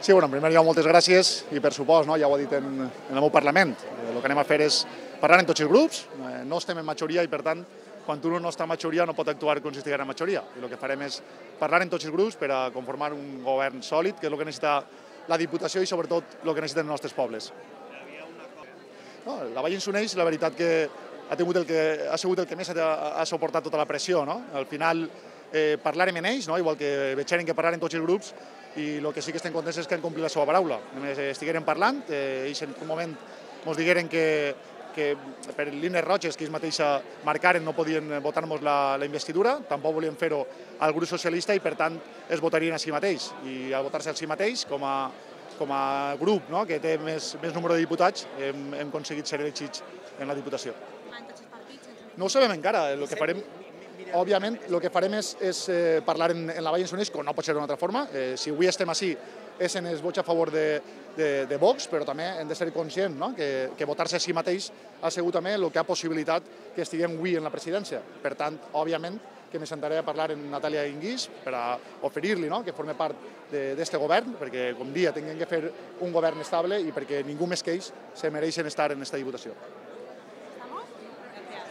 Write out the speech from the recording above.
Sí, bueno, en primer lloc, moltes gràcies i per supost, ja ho he dit en el meu Parlament, el que anem a fer és parlar en tots els grups, no estem en majoria i per tant, quan un no està en majoria no pot actuar com si estigués en majoria i el que farem és parlar en tots els grups per a conformar un govern sòlid, que és el que necessita la Diputació i sobretot el que necessiten els nostres pobles. No, la Vall s'uneix, la veritat que ha sigut el que més ha suportat tota la pressió. Al final parlarem en ells, igual que veig que parlar en tots els grups, i el que sí que estem contents és que han complit la seva paraula. Estigueren parlant, ells en un moment ens digueren que per línies roges que ells mateixos marcaren no podien votar-nos la investidura, tampoc volien fer-ho al grup socialista i per tant es votarien a si mateix. I al votar-se a si mateix, com a grup que té més número de diputats, hem aconseguit ser elegits en la Diputació. No ho sabem encara, el que farem... Òbviament, el que farem és parlar en la Vall s'uneix, com no pot ser d'una altra forma. Si avui estem així és en els vots a favor de Vox, però també hem de ser conscients que votar-se a si mateix ha sigut també el que ha possibilitat que estiguem avui en la presidència. Per tant, òbviament, que me sentaré a parlar amb Natàlia Inguís per a oferir-li que formi part d'aquest govern, perquè, com dia, tinguem que fer un govern estable i perquè ningú més que ells se mereixen estar en aquesta Diputació.